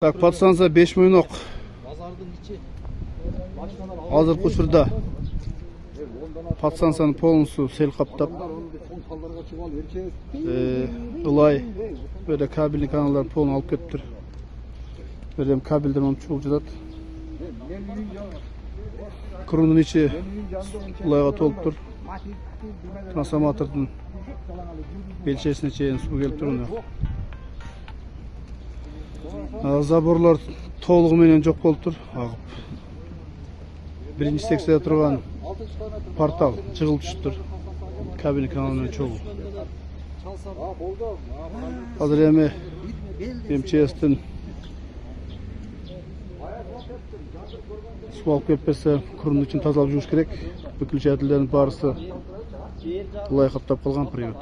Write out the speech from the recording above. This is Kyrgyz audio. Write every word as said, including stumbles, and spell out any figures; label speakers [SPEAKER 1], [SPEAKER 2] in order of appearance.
[SPEAKER 1] Так, подстанция беш мойнок. Азыркы учурда подстанцияны полностью сел каптап, ылай, böyle кабельный каналдар полный алып кетиптир. Берем кабелдер монун чугуп жатат. Крунун ичи ылайга толуптур. Трансформатордун белчесине чейин суу келип туруна. Заборлар толугу менен жок болуп тур, агып. Биринчи секцияда турган портал жыгылып түшүптүр. Кабельный канал менен чогуу. Азыр эми МЧСтин суу алып кетпесе, крунун ичин тазалап жууш керек. Выключательдердин баарысы ылай каптап калган привод.